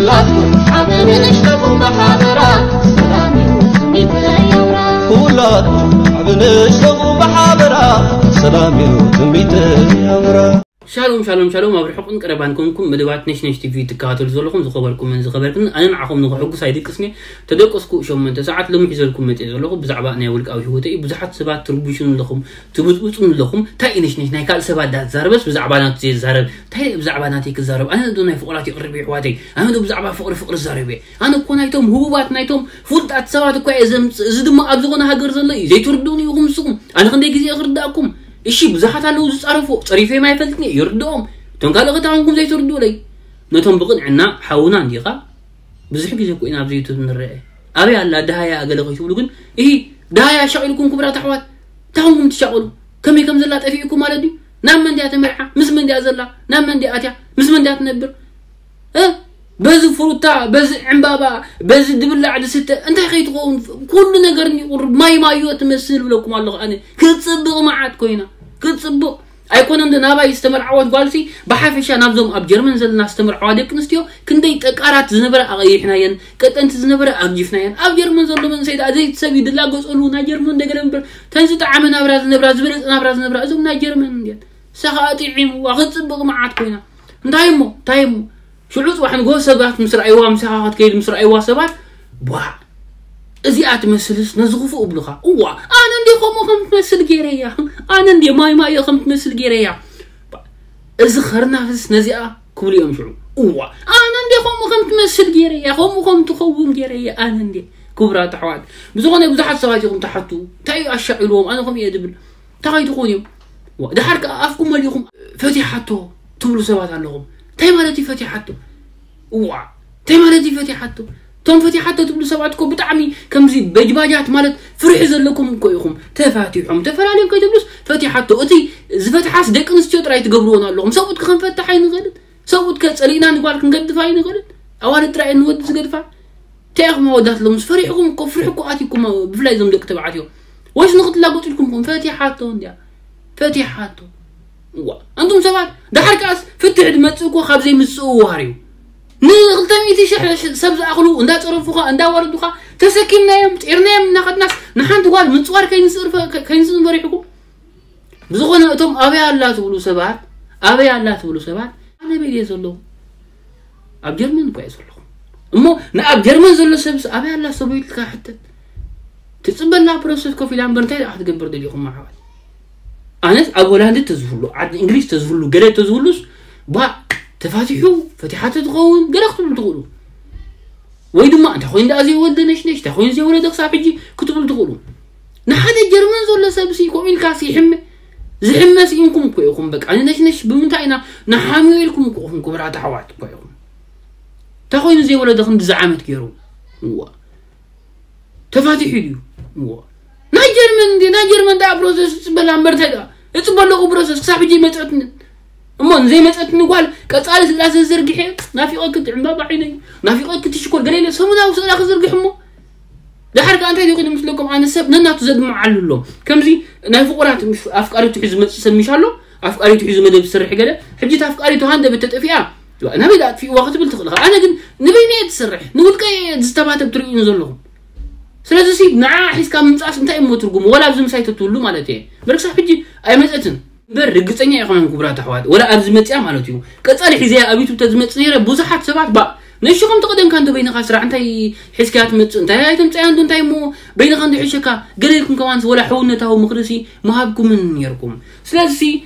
ኩላትኩም ዓቢ ንእሽተኹም ብሓበራ ሰላም እዩ ትምኒተይ ኣውራ። ኩላትኩም ዓቢ ንእሽተኹም ብሓበራ ሰላም እዩ ትምኒተይ ኣውራ። ሻሎም ሻሎም ሻሎም፣ ኣብ ርሑቕን ቀረባን ኮንኩም መደባት ነሽነሽ ቲቪ ትከታተሉ ዘለኹም ዝኸበርኩምን ዝኸበርክን፣ ኣነ ንዓኹም ንኽሕጉስ ኣይድቅስን እየ። ተደቀስኩ ሸሞንተ ሰዓት ሎሚ ሒዘልኩም መፅእ ዘለኹ ብዛዕባ ናይ ውልቃዊ ህይወተይ እዩ። ብዙሓት ሰባት ትርቡሹን ኣለኹም፣ ትብፅብፁን ኣለኹም። እንታይ እዩ ነሽነሽ ናይ ካልእ ሰባት ዳትዛረበስ ብዛዕባ ናቱ ዘይዛረብ? እንታይ ብዛዕባ ናተይ ክዛረብ? ኣነ ዶ ናይ ፍቑራት የቕርብ የሕዋተይ? ኣነ ዶ ብዛዕባ ፍቕሪ ፍቕሪ ዛረብ እየ? ኣነ እኮ ናይቶም ህቡባት ናይቶም ፍሉጣት ሰባት እኳ እየ ዘምፅእ። እዚ ድማ ኣብ ዝኾነ ሃገር ዘሎ እዩ። ዘይትርድኡኒ ኢኹም ንስኹም። ኣነ ክንደይ ግዜ ክርዳእኩም? እሺ፣ ብዙሓት ኣለዉ ዝጻረፉ፣ ጸሪፈዮም ኣይፈልጥን እየ፣ ይርድኦም። እቶም ካልእ ከታንኩም ዘይትርድኡለይ። ነቶም ብቕንዕና ሓውና እንዲኻ? ብዙሕ ግዜ እኮ ኢና ኣብዚ ዩቱብ ንረአ። ኣበይ ኣላ ደሃያ ገለ ከይትብሉ ግን፣ እሂ፣ ደሃያ ሻቒልኩም ክቡራት ኣሕዋት፣ እንታይ ኾንኩም ትሻቐሉ? ከመይ ከም ዘላ ጠፊእኩም ማለት ድዩ? ናብ መን ድያ ተመርዓ? ምስ መን ድያ ዘላ? ናብ መን ድያ ኣትያ? ምስ መን ድያ ትነብር? እ? በዚ ፍሩታ፣ በዚ ዕምባባ፣ በዚ ድብላዕ ድስተ፣ እንታይ ከይትኸውን? ኩሉ ነገር እንዲ ቁሩብ ማይ ማዮ ትመስል ብለኩም ኣለኹ ኣነ። ክትጽብቕ መዓት ኮይና። ክትጽብቕ። ኣይኮነን ዶ ናባይ ዝተመርዓወት ጓልሲ፣ ብሓፈሻ ናብዞም ኣብ ጀርመን ዘለና ዝተመርዓዋ ደቂ ኣንስትዮ፣ ክንደይ ጠቃራት ዝነበረ ኣቐይሕናየን፣ ቀጠንቲ ዝነበረ ኣርጂፍናየን። ኣብ ጀርመን ዘሎ መንእሰይ ደኣ ዘይትሰብ እዩ ድላገጸሉ፣ ናይ ጀርመን እንደገለ እምበር፣ ተን ዝጠዓመ ናብራ ዝነብራ፣ ዝበለጸ ናብራ ዝነብራ፣ እዞም ናይ ጀርመን እንድየን። ንሳ ኸኣ ጥዒምዋ፣ ክትጽብቕ መዓት ኮይና። እንታይ እሞ? እንታይ እሞ? ሽዑ ጽባሕ ንግሆ ሰባት ምስ ረኣይዋ፣ ምሳኻ ክትከይድ ምስ ረኣይዋ ሰባት፣ "ቧዕ! እዚኣ ትመስልስ ነዚ ክፉእ እብሉኻ። እዋ፣ ኣነ እንዴ ከምኡ ከም ትመስል ገይረያ። ኣነ እንዴ ማይ ማዮ ከም ትመስል ገይረያ። ቧዕ! እዚ ኸርናፍስ ነዚኣ" ክብሉ እዮም ሽዑ። "እዋ፣ ኣነ እንዴ ከምኡ ከም ትመስል ገይረያ፣ ከምኡ ከም ትኸውን ገይረያ፣ ኣነ እንዴ?" ክቡራት ኣሕዋት፣ ብዝኾነ ብዙሓት ሰባት ኢኹም ትሓቱ፣ "እንታይ እዩ ኣሻቒልዎም? ኣነ ከምኡ እየ" ዝብል። እንታይ ከይትኾኑ እዮም? ዋ፣ ደሓር ከኣ ኣፍኩም መሊእኹም "ፈቲሓቶ" ትብሉ ሰባት ኣለኹም። እንታይ ማለት እዩ ፈቲሓቶ? እዋ፣ እንታይ ማለት እዩ ፈቲሓቶ? እቶም ፈቲሓቶ ትብሉ ሰባት እኮ ብጣዕሚ ከምዚ በጅባጃት ማለት ፍርሒ ዘለኩም እኮ ኢኹም። ተፋቲሖም፣ ተፈላለዮም ከይትብሉስ ፈቲሓቶ። እቲ ዝፈትሓስ ደቂ ኣንስትዮ ጥራይ ትገብርዎን ኣለኹም። ሰብኡት ከ ክንፈትሕ ኣይንኽእልን? ሰብኡት ከ ጸሊእና ንጓል ክንገድፋ ኣይንኽእልን? ኣዋልድ ጥራይ እየን ንወዲ ዝገድፋ? እንታይ ኢኹም ኣወዳት ሎምስ ፈሪሕኹም እኮ፣ ፍርሒ እኮ ኣትዩኩም፣ ብፍላይ እዞም ደቂ ተባዕትዮ። ወይስ ንኽትላገጹ ኢልኩም ኢኹም? ፈቲሓቶ እንድያ። ፈቲሓቶ። እዋ፣ ኣንቱም ሰባት፣ ደሓር ከኣስ ፍትሒ ዝመጽእ እኮ ካብ ዘይምጽእዋር እዩ። ንኽልተ ሚእቲ ሽሕ ሰብ ዝኣኽሉ እንዳጸረፉኻ፣ እንዳዋረዱኻ፣ ተሰኪምናዮም፣ ጤርናዮም እናኸድናስ፣ ንሓንቲ ጓል ምጽዋር ከይንስእር ፈ-፣ ከ-፣ ከይንስእን ፈሪሕኩም? ብዝኾነ እቶም ኣበይ ኣላ ትብሉ ሰባት፣ ኣበይ ኣላ ትብሉ ሰባት፣ ኣነ ኣበይ ድየ ዘለኹ? ኣብ ጀርመን እኮ እየ ዘለኹ። እሞ ንኣብ ጀርመን ዘሎ ሰብስ ኣበይ ኣላ ሰበይቱ ኢልካ ሕተት። ትጽበላ ፕሮሰስ ኮፍ ኢላ እምበር እንታይ ደኣ ክትገብር ደሊኹም ኣሕዋት? ኣነስ ኣብ ሆላንድ ተዝህሉ፣ ዓዲ እንግሊዝ ተዝህሉ፣ ገለ ተዝህሉስ፣ ባ ተፋቲሑ፣ ፈቲሓቶ ትኸውን፣ ገለ ክትብሉ ትኽእሉ። ወይ ድማ እንታይ ኮይኑ ደኣ ዘይወልደ ነሽነሽ፣ እንታይ ኮይኑ ዘይወለደ ክሳብ ሕጂ ክትብሉ ትኽእሉ። ንሓደ ጀርመን ዘሎ ሰብሲ ከምኡ ኢልካሲ ይሕመ፣ ዝሕመ ስኢንኩም እኮ ኢኹም። በቃ ንነሽነሽ ብምንታይ ኢና ንሓምዮ ኢልኩም እኮ ኢኹም፣ ክቡራት ኣሕዋት እኮ ኢኹም። እንታይ ኮይኑ ዘይወለደ ክንድዚ ዓመት ገይሩ? እዋ። ተፋቲሑ ድዩ? እዋ። ናይ ጀርመን እንዲ፣ ናይ ጀርመን ደኣ ፕሮሰስ እጽበላ እምበር እንታይ ደኣ? እጽበ ኣለኹ ፕሮሰስ ክሳብ ሕጂ ኣይመጸትንን። እሞ ንዘይመጸትኒ ጓል ቀጻሊ ስእላ ስለ ዘርግሐ፣ ናፊቐኪ እቲ ዕምባባ ዓይነይ፣ ናፊቐኪ እቲ ሽኮር ገለ ኢለ ሰሙናዊ ስእላ ክዝርግሕ እሞ። ደሓር ከኣ እንታይ ደይኮይኑ ምስለኩም፣ ኣነ ሰብ ነናቱ ዘድምዓሉ ኣሎ። ከምዚ ናይ ፍቑራት ምስ ኣፍቃሪቱ ሒዙ ዝመጽእ ሰብ ምሽ ኣሎ፣ ኣፍቃሪቱ ሒዙ መደብ ዝሰርሕ ገለ፣ ሕጂ እታ ኣፍቃሪቱ ሃንደበት ተጠፊኣ፣ ናበይ ደኣ ኣጥፊእዋ ክትብል ትኽእል ኢኻ። ኣነ ግን ንበይነይ እየ ዝሰርሕ፣ ንውልቀይ እየ ዝተባተብ ትርእዩኒ ዘለኹም። ስለዚ ሲ ንዓ ሒዝካ ምምጻእስ እንታይ እሞ ትርጉሙ? ወላ ኣብዚ ምሳይ ተትህሉ ማለት እየ። እምበር ክሳብ ሕጂ ኣይመጸትን። እምበር ርግጸኛ ኣይኮነን ክቡራት ኣሕዋት፣ ወላ ኣብዚ መጽያ ማለት እዩ። ቀጻሊ ሒዘያ ኣብ ዩቱብ ተዝመጽእ ነይረ ብዙሓት ሰባት ባ ንእሽኹም ተቐደምካ እንዶ በይንኻ ስራሕ እንታይ ሒዝካያ ትመጽእ? እንታይ ኣይተምጽኣያ እንዶ እንታይ እሞ በይንኻ እንዶ ሒሸካ? ገለ ኢልኩም ከማንስ ወላ ሕውነታዊ ምኽርሲ ምሃብኩምን ነይርኩም። ስለዚ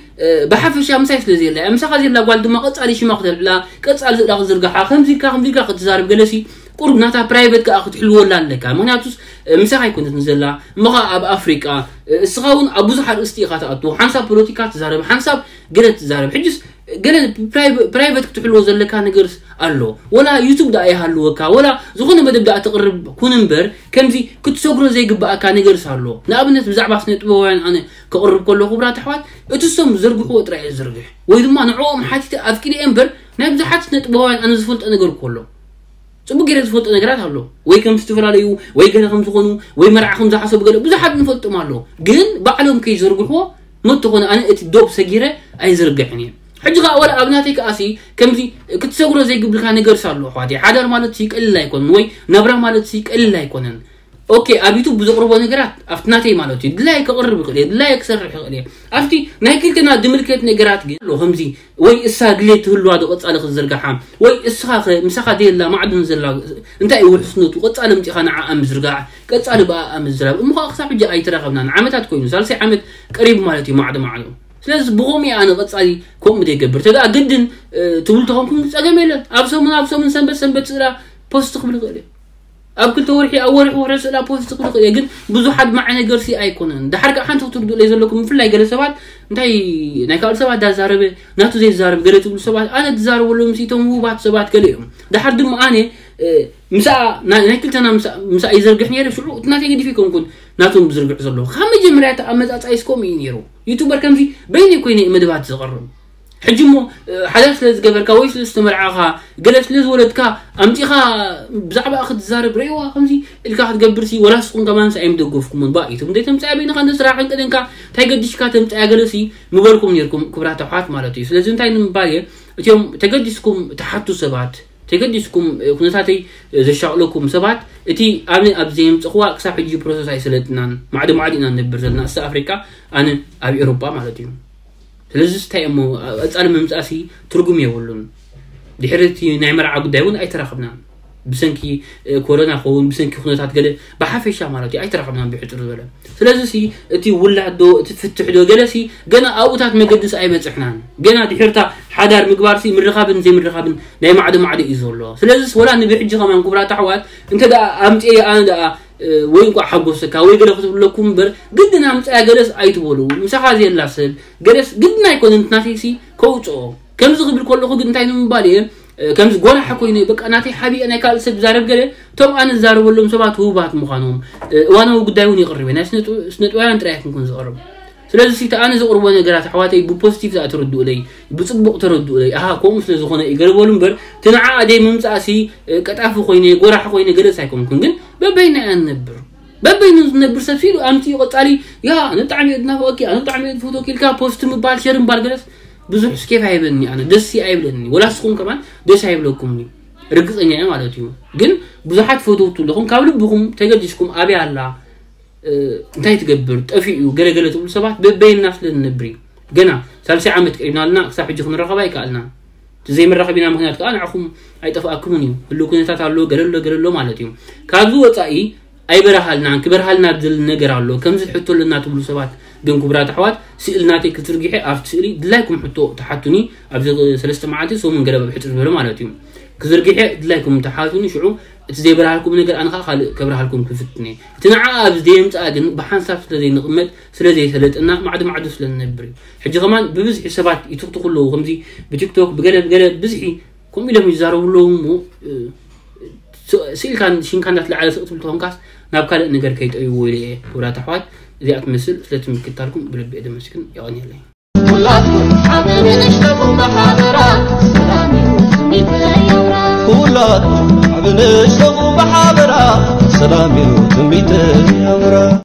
እ፣ ብሓፈሻ ምሳይ ስለ ዘየላ እያ። ምሳኻ ዘላ ጓል ድማ ቀጻሊ ሽማ ክተልዕላ፣ ቀጻሊ ስእላ ክዝርግሓ፣ ከምዚ ኢልካ፣ ከምዚ ኢልካ ክትዛረብ ገለሲ፣ ቁሩብ ናታ ፕራይቨት ከኣ ክትሕልወላ ኣለካ። ምኽንያቱስ፣ እ፣ ምሳኻ ኣይኮነትን ዘላ፣ እሞ ኸኣ ኣብ ኣፍሪቃ፣ እ፣ እስኻ እውን ኣብ ብዙሕ ኣርእስቲ ኢኻ ትኣቱ። ሓንሳብ ፖለቲካ ትዛረብ፣ ሓንሳብ ገለ ትዛረብ። ሕጅስ ገለ ፕራይቨ-፣ ፕራይቨት ክትሕልዎ ዘለካ ነገርስ ኣሎ። ወላ ዩቱብ ደኣ ይሃልወካ፣ ወላ ዝኾነ መደብ ደኣ ተቕርብ ኩን እምበር፣ ከምዚ ክትሰግሮ ዘይግብኣካ ነገርስ ኣሎ። ንኣብነት ብዛዕባ ስነ ጥበባውያን ኣነ ከቕርብ ከሎ ክቡራት ኣሕዋት፣ እቲ እሶም ዝዘርግሕዎ ጥራይ እየ ዝዝርግሕ። ወይ ድማ ንዕኦም ሓቲተ ኣፍቂደ እየ እምበር፣ ናይ ብዙሓት ስነ ጥበባውያን ኣነ ዝፈልጦ ነገር እኮ ኣሎ። ጽቡቕ ገይረ ዝፈልጦ ነገራት ኣሎ። ወይ ከም ዝተፈላለዩ፣ ወይ ገለ ከም ዝኾኑ፣ ወይ መርዓ ከም ዝሓሰቡ ገለ ብዙሓት ንፈልጦም ኣሎ። ግን ባዕሎም ከይዘርግሕዎ፣ መተኾነ ኣነ እቲ ዶብ ሰጊረ ኣይዝርግሕን እየ። ሕጂ ከኣ ወላ ኣብ ናተይ ከኣሲ ከምዚ ክትሰግሮ ዘይግብልካ ነገር ኣሎ ኣሕዋተይ። ሓዳር ማለት ሲ ቀሊል ኣይኮነን፣ ወይ ናብራ ማለት ሲ ቀሊል ኣይኮነን። ኦኬ፣ ኣብ ዩቱብ ብዘቕርቦ ነገራት ኣብቲ ናተይ ማለት እዩ ድላይ ክቕርብ ይኽእል እየ፣ ድላይ ክሰርሕ ይኽእል እየ። ኣብቲ ናይ ክልተና ድምልከት ነገራት ግን ኣሎ ከምዚ ወይ እሳ ድሌት ትህልዋ ዶ ቀጻሊ ክትዝርግሓ፣ ወይ እስኻ ኸ ምሳኻ ደየላ ማዕድን ዘላ እንታይ እዩ ውሕስነቱ? ቀጻሊ ምጺኻ ንዓኣ ምዝርጋሕ፣ ቀጻሊ ብኣኣ ምዝራብ። እሞ ኸኣ ክሳብ ሕጂ ኣይተራኸብናን። ዓመታት ኮይኑ፣ ሳልሳይ ዓመት ቀሪቡ ማለት እዩ ማዕዶ ማዕዶ። ስለዚ ብኸምኡ እየ ኣነ ቀጻሊ ከምኡ ዘይገብር። ተደኣ ግድን ትብሉ ተኾንኩም ጸገም የለን። ኣብ ሰሙን ኣብ ሰሙን ሰንበት ሰንበት ስእላ ፖስት ክብል ይኽእል እየ። ኣብ ክልተ ወርሒ ኣብ ወርሒ ወርሒ ስእላ ፖስት ክብል ይኽእል እየ። ግን ብዙሓት ማዕ ነገር ሲ ኣይኮነን። ድሓር ከዓ ሓንቲ ክትርድኡለይ ዘለኩም፣ ብፍላይ ገለ ሰባት እንታይ ናይ ካልእ ሰባት ዳዛረበ ናቱ ዘይዛረብ ገለ ትብሉ ሰባት፣ ኣነ ትዛረበሎም ሲ እቶም ውባት ሰባት ገለ እዮም። ድሓር ድማ ኣነ ምሳ ናይ ክልተና ምሳ ይዘርግሕ ነይረ። ሽዑ እቲ ናተይ ገዲፍ ይኮንኩን ናቶም ብዝርግሕ ዘሎ ካብ መጀመርያ እቲ ኣመጻጻይ ስኮም እዩ ነይሩ። ዩቱበር ከምዚ በይነይ ኮይነ መደባት ዝቐርብ። ሕጂ እሞ ሓዳር ስለ ዝገበርካ ወይ ስለ ዝተመርዓኻ ገለ ስለ ዝወለድካ ኣምጺኻ ብዛዕባ ክትዛረብ ርእዋ ከምዚ ኢልካ ክትገብር ሲ ወላ ስኹም ከማን ሲ ኣይምደገፍኩምን። ባ ዩቱብ እንደ ተምጻያ በይንኻ እንደ ስራሕን ቅድንካ እንታይ ገዲሽካ ተምጻያ ገለ ሲ ምበልኩም ነርኩም ክብራት ኣሕዋት ማለት እዩ። ስለዚ እንታይ ንምባል እየ እቲኦም ተገዲስኩም ትሓቱ ሰባት ተገዲስኩም ኩነታተይ ዘሻቕለኩም ሰባት እቲ ኣነ ኣብ ዘየምጽኽዋ ክሳብ ሕጂ ፕሮሰስ ኣይሰለጥናን ማዕዲ ማዕዲ ኢና ንነብር ዘለና እሳ ኣፍሪቃ ኣነ ኣብ ኤሮጳ ማለት እዩ። ስለዚ እንታይ እሞ ቀጻሊ ምምጻእሲ ትርጉም የብሉን። ድሕሪ እቲ ናይ መርዓ ጉዳይ እውን ኣይተራኸብናን። ብሰንኪ ኮሮና ኸውን ብሰንኪ ኩነታት ገለ ብሓፈሻ ማለት እዩ ኣይተራኸብናን ብሕፅር ዝበለ። ስለዚ ሲ እቲ ውላድ ዶ እቲ ፍትሕ ዶ ገለ ሲ ገና ኣብኡታት መገድስ ኣይበፅሕናን። ገና ድሕርታ ሓዳር ምግባር ሲ ምርኻብን ዘይምርኻብን ናይ ማዕዶ ማዕዶ እዩ ዘሎ። ስለዚስ ወላ ንብሕጂ ከማን ክቡራት ኣሕዋት እንተ ደኣ ኣምፅኤ ኣነ ደኣ ወይ እንኳ ሓጎሰካ ወይ ገለ ክትብለኩም እምበር ግድን ኣምፅያ ገለስ ኣይትበሉ። ምሳኻ ዘየላ ሰብ ገለስ ግድን ኣይኮነን ናተይሲ ከውፅኦ። ከምዚ ክብል ከለኹ ግን እንታይ ንምባል እየ ከምዚ ጎራሓ ኮይኑ በቃ ናተይ ሓቢአ ናይ ካልእ ሰብ ዛረብ ገለ እቶም ኣነ ዝዛረበሎም ሰባት ህቡባት ምዃኖም እዋናዊ ጉዳይ እውን ይቕርብ ናይ ስነጥበውያን ጥራይ ኣይኮንኩን ዝቕርብ። ስለዚ እቲ ኣነ ዘቕርቦ ነገራት ኣሕዋተይ ብፖዚቲቭ ኣ ተረድኡለይ ብፅቡቕ ተረድኡለይ። ኣሃ ከምኡ ስለ ዝኾነ እዩ ገለ በሉ እምበር እቲ ንዓኣ ደይ ምምፃእሲ ቀጣፊ ኮይነ ጎራሒ ኮይነ ገለስ ኣይኮንኩን ግን በበይና እያ ንነብር። በበይኑ ዝነብር ሰብ ሲሉ ኣምፂኡ ቀፃሊ ያ ኣነ ብጣዕሚ እየ ዝናፍቐኪ ኣነ ብጣዕሚ እየ ዝፈትወኪ ኢልካ ፖስት ምባል ሸር ምባል ገለስ ብዙሕ ስኬፍ ኣይበኒ ኣነ ደስ ኣይብለኒ ወላ ስኹም ከማን ደስ ኣይብለኩም ርግፀኛ እየ ማለት እዩ። ግን ብዙሓት ፈተውቱ ኣለኹም ካብ ልብኹም ተገዲስኩም ኣብያ ኣላ እንታይ ትገብር ጠፊኡ ገለገለ ትብሉ ሰባት በበይና ስለ ንነብር እዩ። ገና ሳልሳይ ዓመት ቀሪብና ኣለና ክሳብ ሕጂ ክንረኸብ ኣይከኣልና። እቲ ዘይመራኸቢና ምክንያት ከዓ ንዓኹም ኣይጠፍኣኩምን እዩ። ህሉ ኩነታት ኣሎ ገለሎ ገለሎ ማለት እዩ። ካብዚ ወፃኢ ኣይበረሃልናን ክበርሃልና ዝደሊ ነገር ኣሎ ከምዚ ሕቶ ኣለና ትብሉ ሰባት ግን ክቡራት ኣሕዋት ስእሊ ናተይ ክትዝርግሐ ኣብቲ ስእሊ ድላይኩም ሕቶ ተሓቱኒ ኣብዚ ሰለስተ መዓልቲ ሰሙን ገለ ብሕፅር ዝበለ ማለት እዩ። ክዝርግሐ ድላይኩም ተሓቱኒ ሽዑ እቲ ዘይበርሃልኩም ነገር ኣነ ከዓ ካልእ ከብርሃልኩም ክፍትነ እቲ ንዓ ኣብዚ ዘየምፅኣ ግን ብሓንሳብ ስለ ዘይንቕመጥ ስለ ዘይሰለጥና ማዕዶ ማዕዶ ስለ ንነብር እዩ። ሕጂ ከማን ብብዝሒ ሰባት ይትኽትኹ ኣለዉ ከምዚ ብቲክቶክ ብገለ ብገለ ብዝሒ ከምኡ ኢሎም ይዛረቡ ኣለዉ እሞ ስኢልካ ሽንካ እንዳትለዓለ ስቕ ትብል ተኾንካስ ናብ ካልእ ነገር ከይጠይዎ ኢለ እየ። ክቡራት ኣሕዋት እዚኣ ትመስል ስለቲ ምክታልኩም ብልቢ እየ ደመስግን። የቐንየለይ። ኩላትኩም ዓቢ ንእሽተኹም ብሓበራ ሰላም እዩ ትምኒተይ ኣውራ። ኩላትኩም ዓቢ ንእሽተኹም ብሓበራ ሰላም እዩ ትምኒተይ ኣውራ።